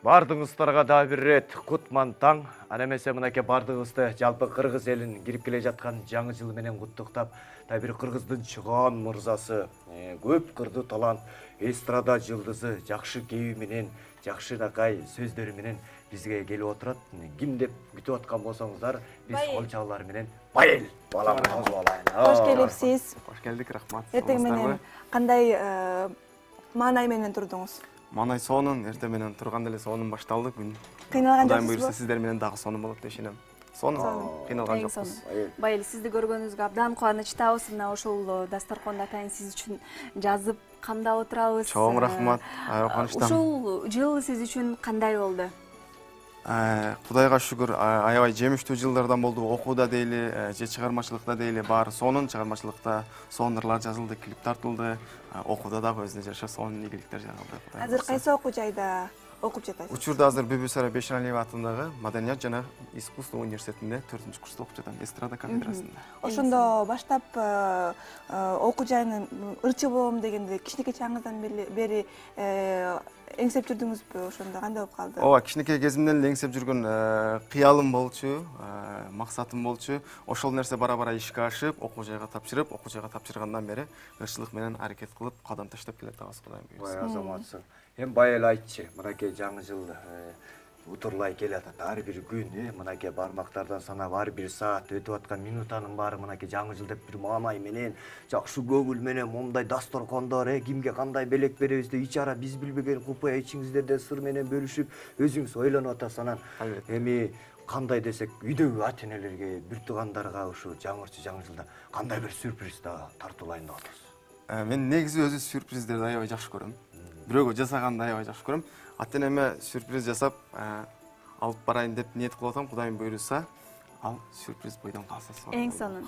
Бардыңыздарга да бир ирет кутман таң. Ана эмесе мынакей бардыгыбызды жалпы кыргыз элин кирип келе жаткан жаңы жыл менен куттуктап, да бир кыргыздын чыгаан мырзасы, көп кырдуу талант, эстрада жылдызы жакшы кээби менен, жакшынакай сөздөрү менен бизге келип отурат. Ким деп күтүп аткан болсоңуздар, биз кол чалуулар менен Байел баламызды алайын. Кош келипсиз. Кош келдик, рахмат. Эртең менен кандай маанай менен турдуңуз? Маанай сонун, эртең менен турганда эле сонун башталды күн. Кыйналган Кудайым жоксузбу? буйруса сиздер менен дагы сонун болот деп ишенем. Сонун, кыйналган жокпуз. Байел, сизди көргөнүбүзгө абдан кубанычтабыз. Мына ушул дасторконду атайын сиз үчүн жазып камдап отурабыз. Чоң рахмат. Кубанычтамын. Ушул жыл сиз үчүн кандай болду? Кудайга шүгүр, аябай жемиштүү жылдардан болду. Окууда дейли, же чыгармачылыкта дейли, баары сонун. Чыгармачылыкта сонурлар жазылды, клип тартылды. Окууда дагы өзүнө жараша сонун ийгиликтер жагылды. Азыр кайсы окуу жайда окуп жатасыз? Учурда азыр Бүбүсара Бейшеналиева атындагы Маданият жана искусство университетинде 4-курста окуп жатам, эстрада кафедрасында. Ошондо баштап окуу жайынан ырчы болом дегенде кичинекей чагыңыздан бери эңсеп жүрдүңүзбү? Ошондо кандай болуп калды? Ооба, кичинекей кезимден эле эңсеп жүргөн кыялым болчу, максатым болчу. Ошол нерсе бара-бара ишке ашып, окуу жайга тапшырып, окуу жайга тапшыргандан бери ырчылык менен аракет кылып, кадам таштап келатабыз, Кудайым буйруса. Бай азаматсың. Эми Байел айтчы, мынакей жаңы жыл утурлай келатат. Ар бир күн, мынакей бармактардан санап ар бир саат өтүп аткан минутанын баары мынакей жаңы жыл деп бир маанай менен, жакшы көңүл менен момундай дасторкондор, кимге кандай белек беребиз деп ичара биз билбеген купуя ичиңиздерден сыр менен бөлүшүп, өзүңүз ойлонуп атасыз. Анан эми кандай десек, үйдөгү ата энелерге, бир туугандарга ушу жаңы жылда кандай бир сюрприз да тартуулайын деп атасыз? Мен негизи өзү сюрприздерди аябай жакшы көрөм. Бирөөгө жасаганды аябай жакшы көрөм. Ата энеме сюрприз жасап, алып барайын деп ниет кылып атам. Кудайым буйруса, ал сюрприз бойдон калса сонун. Эң сонун.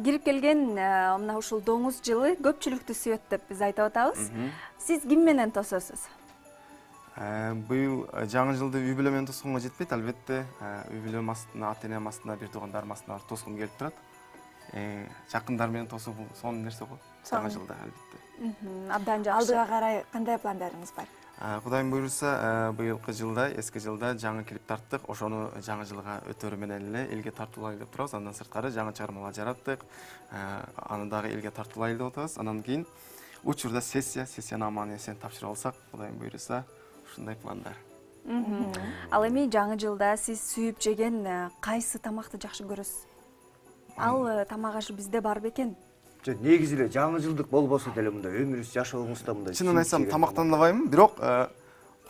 Кирип келген мына ушул доңуз жылы көпчүлүктү сүйөт деп биз айтып атабыз. Сиз ким менен тососуз? Быйыл жаңы жылды үй бүлө менен тосконго жетпейт, албетте. Үй бүлөм астына, ата энем астына, бир туугандарым астына тоскум келип турат. Жакындар менен тосуу бул сонун нерсе го. Жаңы жылда албетте. Абдан жакшы. Алдыга карай кандай пландарыңыз бар? Кудайым буйруса, быйылкы жылда, эски жылда жаңы клип тарттык. Ошону жаңы жылга өтөрү менен эле элге тартуулайлы деп турабыз. Андан сырткары жаңы чыгармалар жараттык. Аны дагы элге тартуулайлы деп атабыз. Анан кийин учурда сессияны аман эсен тапшырып алсак, Кудайым буйруса, ушундай пландар. Ал эми жаңы жылда сиз сүйүп жеген кайсы тамакты жакшы көрөсүз? Ал тамак ашы бизде бар бекен? Негизи эле жаңы жылдык болбосо деле мындай өмүрүңүз жашооңузда мындай. Чынын айтсам, тамактанбайм, бирок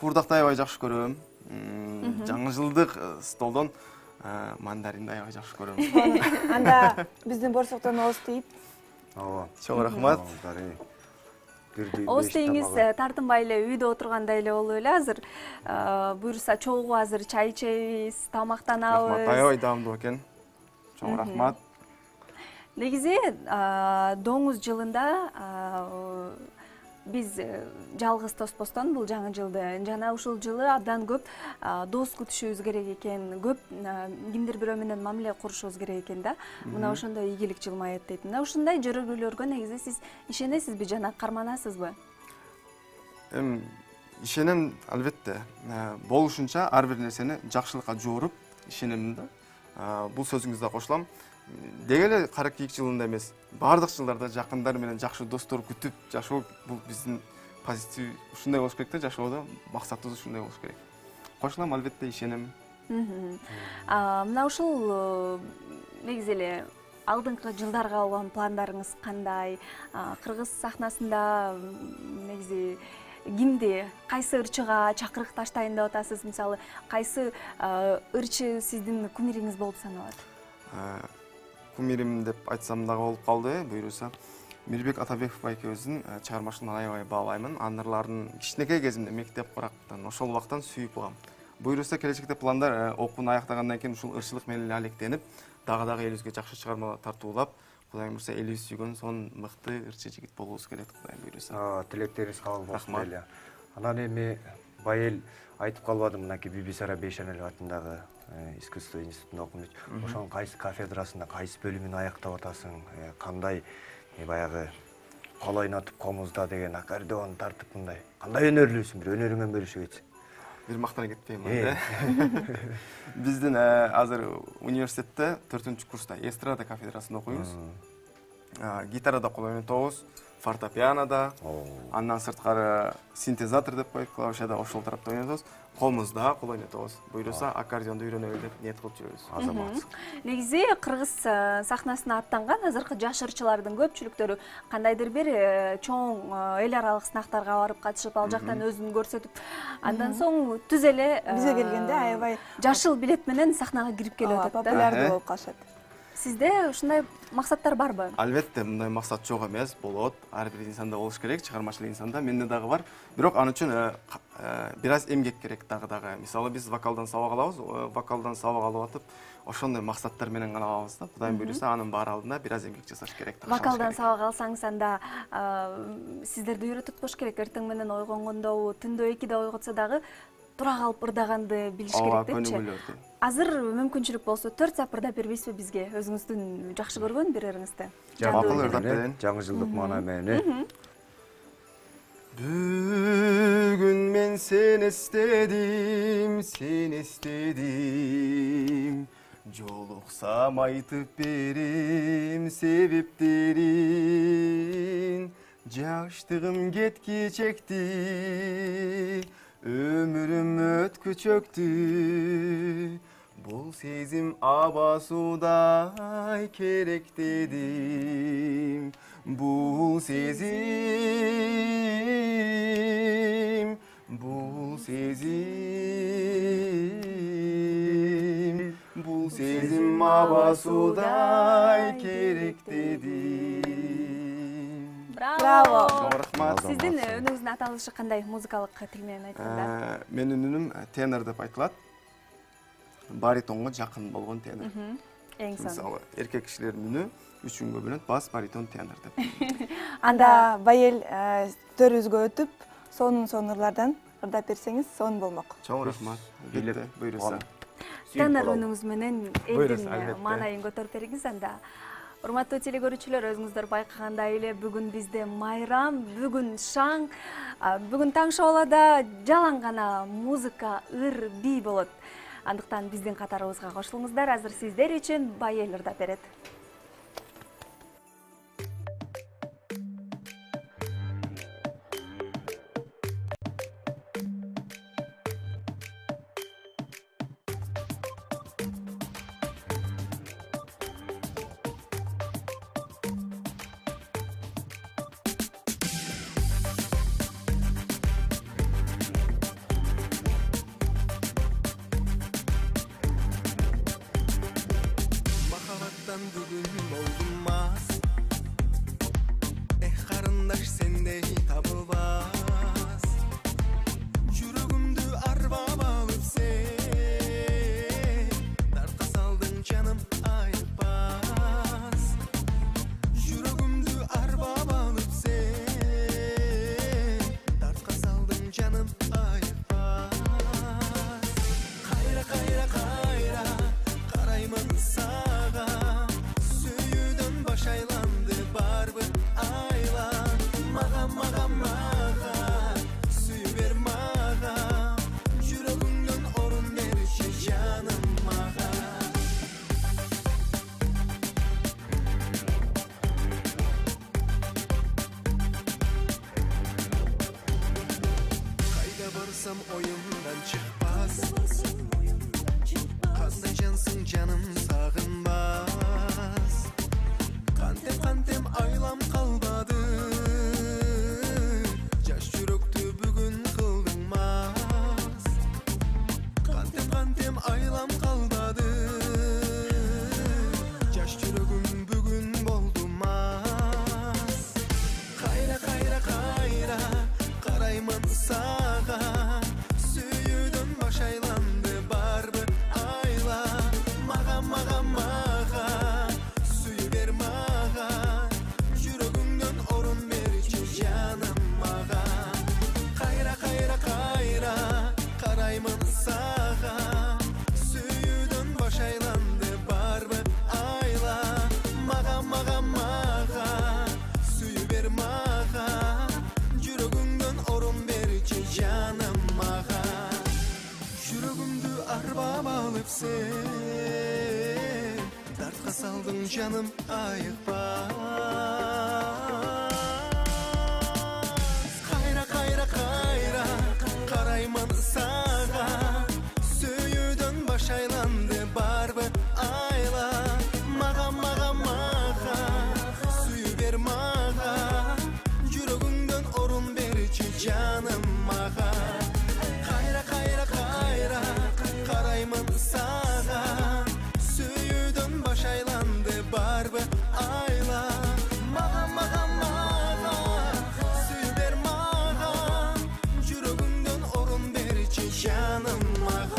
куурдакты аябай жакшы көрөм. Жаңы жылдык столдон мандаринди аябай жакшы көрөм. Анда биздин борсоктон ооз тийип. Ооба, чоң рахмат. Ооз тийиңиз тартынбай эле үйдө отургандай эле болуп эле азыр. Буйруса чогуу азыр чай ичебиз, тамактанабыз. Рахмат, аябай даамдуу экен. Чоң рахмат. Негизи доңуз жылында биз жалгыз тоспостон бул жаңы жылды жана ушул жылы абдан көп дос күтүшүбүз керек экен, көп кимдир бирөө менен мамиле курушубуз керек экен да. Мына ошондой ийгилик жылмайат дейт. Мына ушундай жөрөгүүлөргө негизи сиз ишенесизби жана карманасызбы? Ишенем, албетте. Болушунча ар бир нерсени жакшылыкка жооруп ишенем да. Бул сөзүңүздө кошулам. Деги эле 42 жылында эмес, бардык жылдарда жакындар менен жакшы достор күтүп жашоо бул биздин позитив ушундай болуш керек да, жашоодо максатыбыз ушундай болуш керек. Кошулам, албетте ишенем. Мына ушул негизи эле алдыңкы жылдарга болгон пландарыңыз кандай? Кыргыз сахнасында негизи кимди, кайсы ырчыга чакырык таштайын деп атасыз? Мисалы, кайсы ырчы сиздин кумириңиз болуп саналат? Кумирим деп айтсам дагы болуп калды, буйруса. Мирбек Атабеков экөөбүздүн чыгармачылыгын аябай баалаймын. Анын кичинекей кезимде мектеп курактан, ошол убактан сүйүп алгам. Буйруса келечекте пландар окууну аяктагандан кийин ушул ырчылык менен эле алектенип, дагы элибизге жакшы чыгармалар тартуулап, Кудайым буйруса элибиз сүйгөн сонун мыкты ырчы жигит болуубуз келет, Кудайым буйруса. Тилектериңиз кабыл болсун эле. Анан эми Байел айтып калбадым, мынакей Бүбүсара Бейшеналиева атындагы искусство институтунда окуп жүрүп, ошонун кайсы кафедрасында, кайсы бөлүмүн аяктап атасың, кандай баягы кол ойнотуп комузда деген аккордеон тартып мындай. Кандай өнөрлүүсүң, бир өнөрүңөн бөлүшүп кетсең? бир мактана кетпейм да. Биздин азыр университетте 4-курста эстрада кафедрасында окуйбуз. Гитарада кол ойнотобуз, фортепианода, андан сырткары синтезатор деп коет, клавишада ошол тарапта ойнотобуз. Колумузда кол ойнотобуз. Буйруса аккордеонду үйрөнөлү деп ниет кылып жүрөбүз. Азамат. Негизи кыргыз сахнасына аттанган азыркы жаш ырчылардын көпчүлүктөрү кандайдыр бир чоң эл аралык сынактарга барып катышып, ал жактан өзүн көрсөтүп, андан соң түз эле бизге келгенде аябай жашыл билет менен сахнага кирип келип атат да. Популярдуу болуп калышат. Сизде ушундай максаттар барбы? Албетте, мындай максат жок эмес, болот. Ар бир инсанда болуш керек, чыгармачылык инсанда. Менде дагы бар. Бирок аны үчүн бир аз эмгек керек дагы. Мисалы биз вокалдан сабак алабыз, вокалдан сабак алып атып, ошондой максаттар менен гана алабыз да. Кудайым буйруса, анын баары алдында бир аз эмгек жасаш керек. Вокалдан сабак алсаңыз анда сиздерди үйрөтүп туруш керек. Эртең менен ойгонгондо, түндө 2-де ойготсо дагы тура калып ырдаганды билиш керек депчи. Азыр мүмкүнчүлүк болсо 4 саат ырдап бербейсизби бизге? Өзүңүздүн жакшы көргөн бир ырыңызды. Макул ырдап берейин. Жаңы жылдык маана менен. Бүгүн мен сени эстедим, жолуксам айтып берем себептерин. Жаштыгым кетки чекти, өмүрүм өткүчөктү, бул сезим аба суудай керек дедим. Бул сезим аба суудай керек дедим. Браво! Рахмат. Сиздин үнүңүздүн аталышы кандай музыкалык тил менен айтканда? Менин үнүм тенор деп айтылат. Баритонго жакын болгон тенор. Эң сонун. Мисалы, эркек кишилердин үнү 3 күнгө бөлүнөт: бас, баритон, тенор деп. Анда байел төрүбүзгө өтүп, сонун ырлардан ырдап берсеңиз сонун болмок. Чоң рахмат. Билет буйруса. Тенор үнүңүз менен элдин албетте. маанайын көтөрүп бериңиз анда. Урматтуу телекөрүүчүлөр, өзүңүздөр байкагандай эле бүгүн бизде майрам, бүгүн шаң, бүгүн таң шоулада жалаң гана музыка, ыр, бий болот. Андыктан биздин катарыбызга кошулуңуздар. Азыр сиздер үчүн байел ырдап берет. Бүгүн болдум мас, карындаш сендей табылбас. Жүрөгүмдү арбап алып сен, дартка салдың жаным айыкпас. Жүрөгүмдү арбап алып сен, дартка салдың жаным айыкпас. Кайра кайра кайра караймын сага, айланды барбы айла, мага сүйү бер мага, жүрөгүңдөн орун берчи жаным мага. Кайда барсам оюмдан чыкпас, кандай жансың жаным сагынбас. Кантем айлам калбады, жаш жүрөктү бүгүн кылдың мас. Кантем айлам калбады, жаш жүрөгүм бүгүн болду мас. Кайра кайра кайра караймын сага, сүйүүдөн баш айланды барбы айла, мага сүйү бер мага, жүрөгүңдөн орун берчи жаным мага. Кайра кайра кайра караймын сага, сүйүүдөн алып сен дартка салдың жаным айыкпа кайра кайра кайра караймын сага сүйүүдөн баш айланды барбы айла мага сүйүү бер мага жүрөгүңдөн орун берчи жаным мага кайра кайра кайра караймын сага сүйүүдөн баш айланды барбы айла мага сүйүү бер мага жүрөгүңдөн орун берчи жаным мага